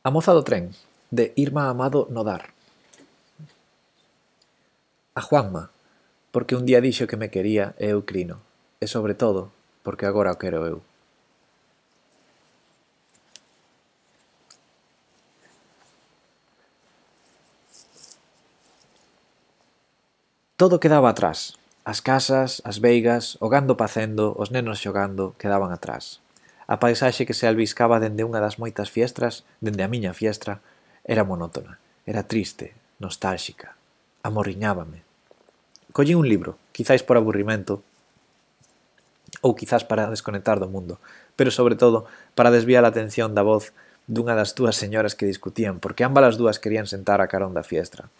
A moza do tren, de Irma Amado Nodar. A Juanma, porque un día dixo que me quería e eu crino, e sobre todo, porque agora o quero eu. Todo quedaba atrás. As casas, as veigas, o gando pacendo, os nenos xogando, quedaban atrás. A paisaxe que se albiscaba dende unha das moitas fiestras, dende a miña fiestra, era monótona, era triste, nostálxica, amorriñábame. Collín un libro, quizáis por aburrimento, ou quizás para desconectar do mundo, pero sobre todo para desviar a atención da voz dunha das dúas señoras que discutían, porque ambas as dúas querían sentar a carón da fiestra.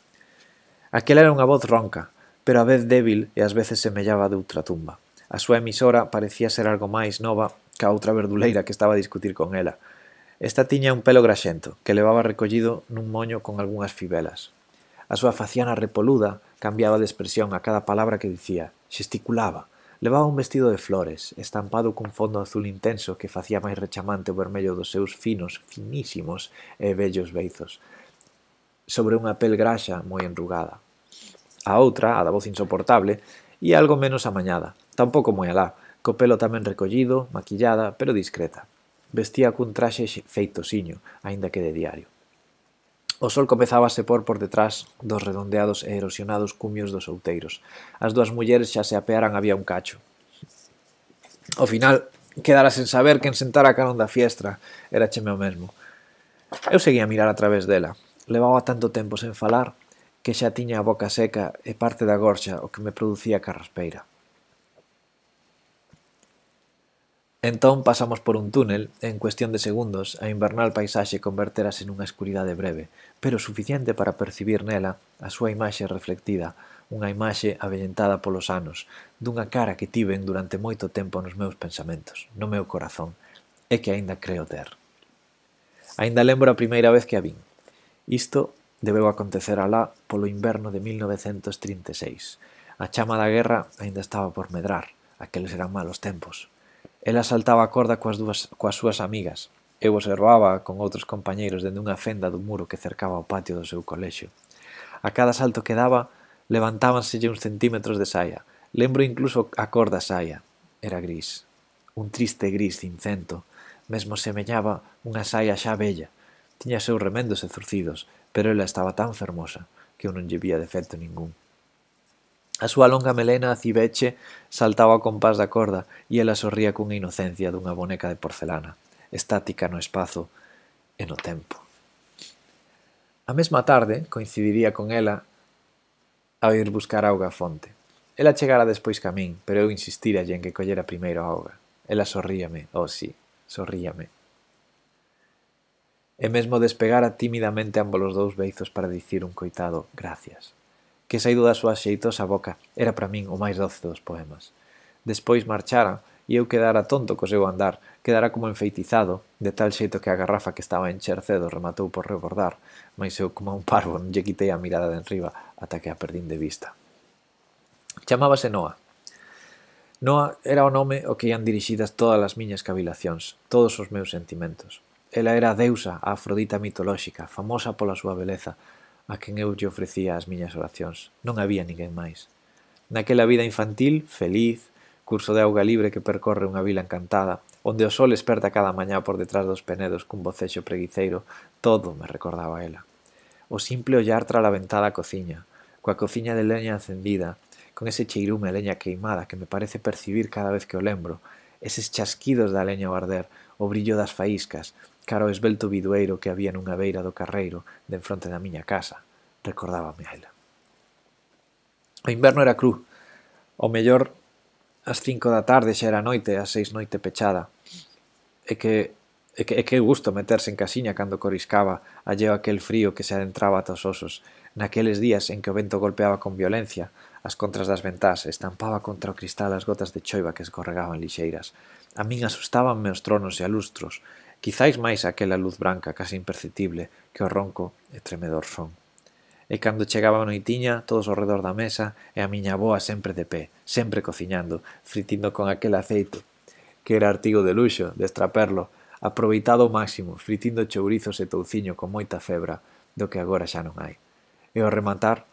Aquela era unha voz ronca, pero a vez débil e ás veces semellaba de outra tumba. A súa emisora parecía ser algo máis nova ca outra verduleira que estaba a discutir con ela. Esta tiña un pelo graxento, que levaba recollido nun moño con algunhas fibelas. A súa faciana repoluda cambiaba de expresión a cada palabra que dicía, xesticulaba, levaba un vestido de flores, estampado cun fondo azul intenso que facía máis rechamante o vermello dos seus finos, finísimos e vellos beizos, sobre unha pel graxa moi enrugada. A outra, a da voz insoportable, ia algo menos amañada, tampouco moi alá, co pelo tamén recollido, maquillada, pero discreta. Vestía cun traxe feitosiño, aínda que de diario. O sol comezaba a se por detrás dos redondeados e erosionados cumios dos outeiros. As dúas mulleres xa se apearan había un cacho. Ao final, quedara sen saber quen sentara a carón da fiestra, era cheme o mesmo. Eu seguía a mirar a través dela. Levaba tanto tempo sen falar que xa tiña a boca seca e parte da gorxa o que me producía carraspeira. Entón pasamos por un túnel e en cuestión de segundos a invernal paisaxe converterase nunha escuridade breve, pero suficiente para percibir nela a súa imaxe reflectida, unha imaxe avellentada polos anos, dunha cara que tiven durante moito tempo nos meus pensamentos, no meu corazón, e que aínda creo ter. Aínda lembro a primeira vez que a vin. Isto debeu acontecer alá polo inverno de 1936. A chama da guerra aínda estaba por medrar, aqueles eran malos tempos. Ela saltaba a corda coas súas amigas. Eu observaba con outros compañeiros dende unha fenda do muro que cercaba o patio do seu colexio. A cada salto que daba, levantábanselle uns centímetros de saia. Lembro incluso a cor da saia. Era gris. Un triste gris cincento. Mesmo semellaba unha saia xa bella. Tiña seus remendos e zurcidos, pero ela estaba tan fermosa que eu non lle vía defecto ningún. A súa longa melena acibeche saltaba ao compás da corda e ela sorría cunha inocencia dunha boneca de porcelana, estática no espazo e no tempo. A mesma tarde coincidiría con ela ao ir buscar auga á fonte. Ela chegara despois ca min, pero eu insistiralle en que collera primeiro a auga. Ela sorríame, oh sí, sorríame. E mesmo despegara tímidamente ambos os dous beizos para dicir un coitado gracias, que saído da súa xeitosa boca era para min o máis doce dos poemas. Despois marchara e eu quedara tonto co seu andar, quedara como enfeitizado, de tal xeito que a garrafa que estaba a encher cedo rematou por rebordar, mais eu como un parvo non lle quitei a mirada de enriba ata que a perdín de vista. Chamábase Noa. Noa era o nome ao que ian dirixidas todas as miñas cavilacións, todos os meus sentimentos. Ela era a deusa, a Afrodita mitolóxica, famosa pola súa beleza, a quen eu lle ofrecía as miñas oracións. Non había ninguén máis. Naquela vida infantil, feliz, curso de auga libre que percorre unha vila encantada, onde o sol esperta cada mañá por detrás dos penedos cun bocexo preguiceiro, todo me recordaba a ela. O simple ollar tra a ventada cociña, coa cociña de leña encendida, con ese cheirume a leña queimada que me parece percibir cada vez que o lembro, eses chasquidos da leña ao arder, o brillo das faíscas, cara ao esbelto bidueiro que había nunha beira do carreiro de enfronte da miña casa, recordábame a ela. O inverno era cru. O mellor ás 5 da tarde xa era noite, ás 6 noite pechada. Que gusto meterse en casiña cando coriscaba, alleo aquel frío que se adentraba ata os osos, naqueles días en que o vento golpeaba con violencia as contras das ventás, estampaba contra o cristal as gotas de choiva que escorregaban lixeiras. A min asustábanme os tronos e alustros, quizáis máis aquela luz branca case imperceptible que o ronco e tremedor son. E cando chegaba a noitiña, todos ao redor da mesa, e a miña avoa sempre de pé, sempre cociñando, fritindo con aquel aceite, que era artigo de luxo, de extraperlo, aproveitado ao máximo, fritindo chourizos e touciño con moita febra, do que agora xa non hai. E ao rematar,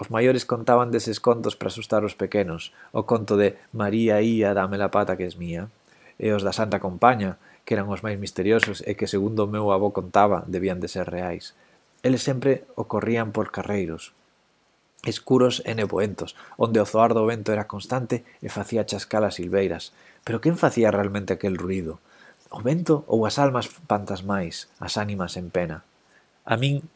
os maiores contaban deses contos para asustar os pequenos, o conto de María ía, dame la pata que es mía, e os da Santa Compaña, que eran os máis misteriosos e que, segundo o meu avó contaba, debían de ser reais. Eles sempre ocorrían por carreiros, escuros e nevoentos, onde o zoar do vento era constante e facía chascar as silveiras. Pero quen facía realmente aquel ruído? O vento ou as almas fantasmais, as ánimas en pena? A min,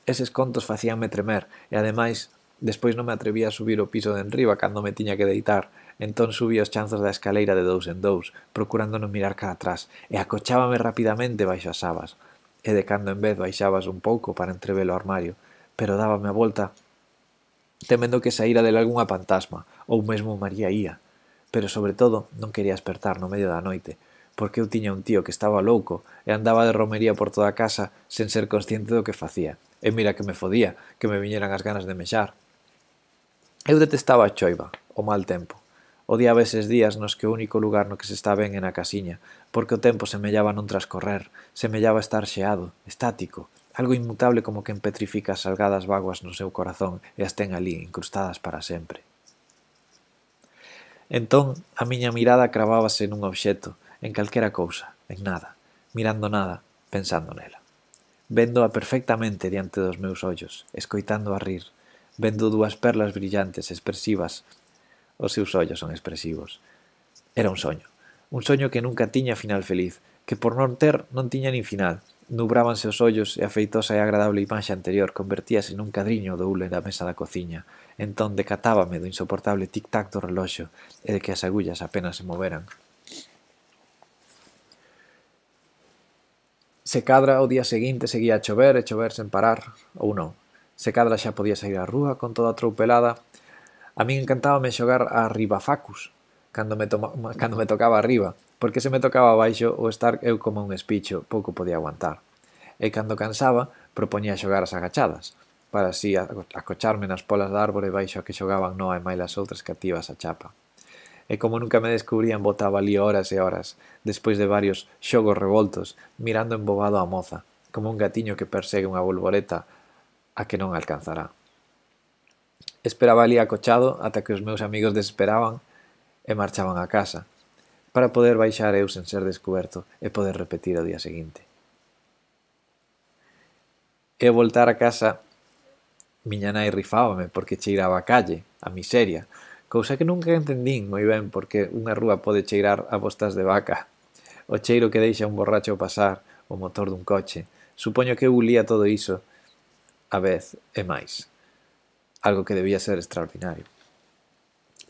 eses contos facíanme tremer, e ademais, despois non me atrevía a subir o piso de enriba cando me tiña que deitar, entón subía os chanzos da escaleira de dous en dous, procurando non mirar cara atrás, e acochábame rapidamente baixo as sabas, e de cando en vez baixabas un pouco para entrever o armario, pero dábame a volta temendo que saíra del algunha fantasma, ou mesmo María ía. Pero, sobre todo, non quería despertar no medio da noite, porque eu tiña un tío que estaba louco e andaba de romería por toda a casa sen ser consciente do que facía. E mira que me fodía, que me viñeran as ganas de mexar. Eu detestaba a choiva, o mal tempo. Odiaba eses días nos que o único lugar no que se está ben é na casiña, porque o tempo semellaba non transcorrer, semellaba estar xeado, estático, algo inmutable como quen petrifica as salgadas vaguas no seu corazón e as ten alí, incrustadas para sempre. Entón, a miña mirada cravábase nun obxecto, en calquera cousa, en nada, mirando nada, pensando nela. Véndoa perfectamente diante dos meus ollos, escoitando a rir, vendo dúas perlas brillantes, expresivas. Os seus ollos son expresivos. Era un soño que nunca tiña final feliz, que por non ter non tiña nin final. Nubrábanse os ollos e a feitosa e agradable imaxe anterior convertíase nun cadriño do hule da mesa da cociña. Entón decatábame do insoportable tic-tac do reloxo e de que as agullas apenas se moveran. Se cadra o día seguinte seguía a chover e chover sen parar, ou non. Se cadra xa podía sair á rúa con toda a troupelada. A min encantábame xogar a ribafacus cando me tocaba arriba, porque se me tocaba abaixo o estar eu como un espicho pouco podía aguantar. E cando cansaba, propoñía xogar as agachadas, para así acocharme nas polas da árbore baixo a que xogaban Noa e mailas outras cativas a chapa. E como nunca me descubrían, botaba ali horas e horas, despois de varios xogos revoltos, mirando embobado a moza, como un gatiño que persegue unha bolboreta a que non alcanzará. Esperaba ali acochado ata que os meus amigos desesperaban e marchaban a casa, para poder baixar eu sen ser descuberto e poder repetir o día seguinte. E ao voltar a casa, miña nai rifábame porque cheiraba a calle, a miseria, cousa que nunca entendín moi ben porque unha rúa pode cheirar a bostas de vaca. O cheiro que deixa un borracho pasar, o motor dun coche. Supoño que eu ulía todo iso a vez e máis. Algo que debía ser extraordinario.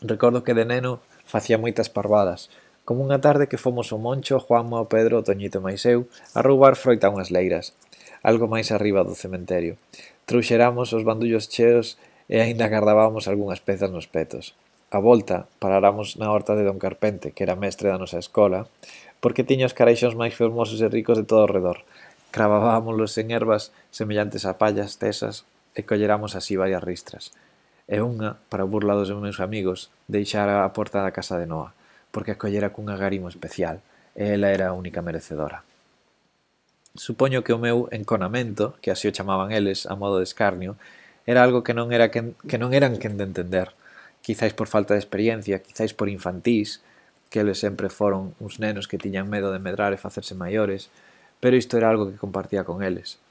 Recordo que de neno facía moitas parvadas, como unha tarde que fomos o Moncho, Juanma, o Pedro, o Toñito máis eu, a roubar froita a unhas leiras, algo máis arriba do cementerio. Trouxeramos os bandullos cheos e aínda gardábamos algunhas pezas nos petos. A volta, paráramos na horta de don Carpente, que era mestre da nosa escola, porque tiña os careixóns máis fermosos e ricos de todo o redor. Cravábamolos en ervas semellantes a pallas tesas e colleramos así varias ristras. E unha, para burla dos meus amigos, deixara a porta da casa de Noa, porque a collera cun agarimo especial, e ela era a única merecedora. Supoño que o meu enconamento, que así o chamaban eles, a modo de escarnio, era algo que non eran quen de entender, quizáis por falta de experiencia, quizáis por infantís, que eles sempre foron uns nenos que tiñan medo de medrar e facerse maiores, pero isto era algo que compartía con eles.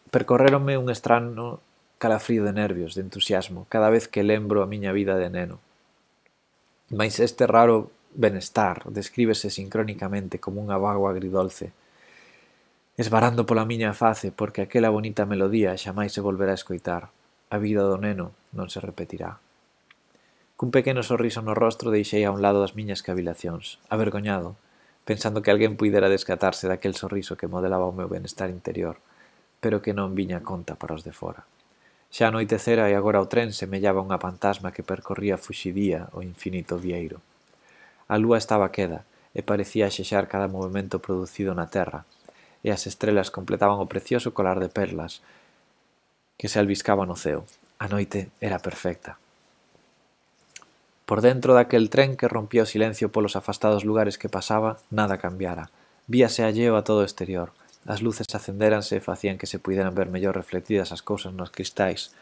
Percorréronme un estrano calafrío de nervios, de entusiasmo, cada vez que lembro a miña vida de neno. Mais este raro benestar descríbese sincrónicamente como unha vago agridolce, esvarando pola miña face porque aquela bonita melodía xamais se volverá a escoitar. A vida do neno non se repetirá. Cun pequeno sorriso no rostro deixei a un lado as miñas cavilacións, avergoñado, pensando que alguén puidera descatarse daquel sorriso que modelaba o meu benestar interior, pero que non viña a conta para os de fora. Xa anoitecera e agora o tren semellaba unha fantasma que percorría fuxidía o infinito vieiro. A lúa estaba queda e parecía axexar cada movimento producido na terra, e as estrelas completaban o precioso colar de perlas que se albiscaba no ceo. A noite era perfecta. Por dentro daquel tren que rompía o silencio polos afastados lugares que pasaba, nada cambiara. Víase alleo a todo o exterior. As luces acendéranse e facían que se puideran ver mellor reflectidas as cousas nos cristais.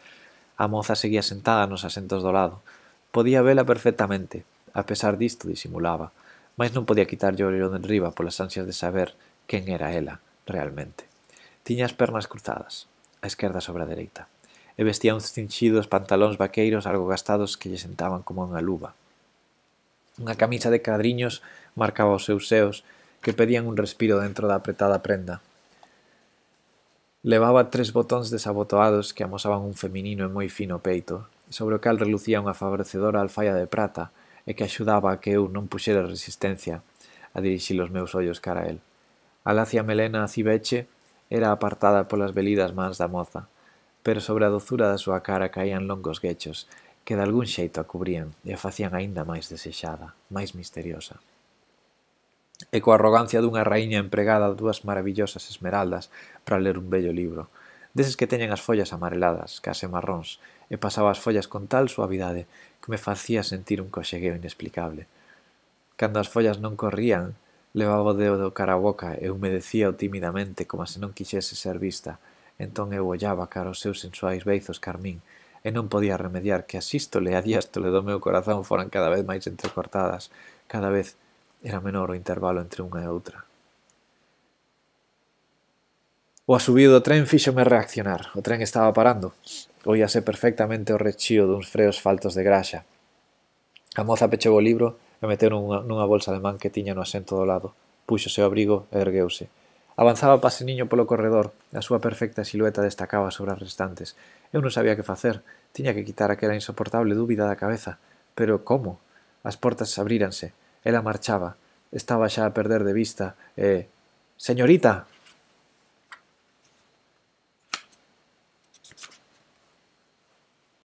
A moza seguía sentada nos asentos do lado. Podía vela perfectamente. A pesar disto, disimulaba. Mais non podía quitarlle o ollo de enriba polas ansias de saber quen era ela, realmente. Tiña as pernas cruzadas, a esquerda sobre a dereita, e vestía uns cinxidos pantalóns vaqueiros algo gastados que lle sentaban como unha luva. Unha camisa de cadriños marcaba os seus seos, que pedían un respiro dentro da apretada prenda. Levaba 3 botóns desabotoados que amosaban un feminino e moi fino peito, sobre o cal relucía unha favorecedora alfaia de prata e que axudaba a que eu non puxera resistencia a dirixir os meus ollos cara a el. A lacia melena cibeche era apartada polas velidas mans da moza, pero sobre a dozura da súa cara caían longos guechos que de algún xeito a cubrían e a facían aínda máis desexada, máis misteriosa. E coa arrogancia dunha raíña empregada 2 marabillosas esmeraldas para ler un bello libro, deses que teñen as follas amareladas, case marróns, e pasaba as follas con tal suavidade que me facía sentir un coxegueo inexplicable. Cando as follas non corrían, levaba o dedo cara a boca e humedecíao timidamente como se non quixese ser vista. Entón eu ollaba cara os seus sensuais beizos carmín e non podía remediar que a sístole e a diástole do meu corazón foran cada vez máis entrecortadas, cada vez era menor o intervalo entre unha e outra. O asubío do tren fíxome reaccionar. O tren estaba parando. Oíase perfectamente o rechío duns freos faltos de graxa. A moza pechou o libro e meteu nunha bolsa de man que tiña no asento do lado. Púxose o abrigo e ergueuse. Avanzaba paseniño polo corredor. A súa perfecta silueta destacaba sobre as restantes. Eu non sabía que facer. Tiña que quitar aquela insoportable dúbida da cabeza. Pero como? As portas abríranse. Ela marchaba. Estaba xa a perder de vista e... «Señorita!»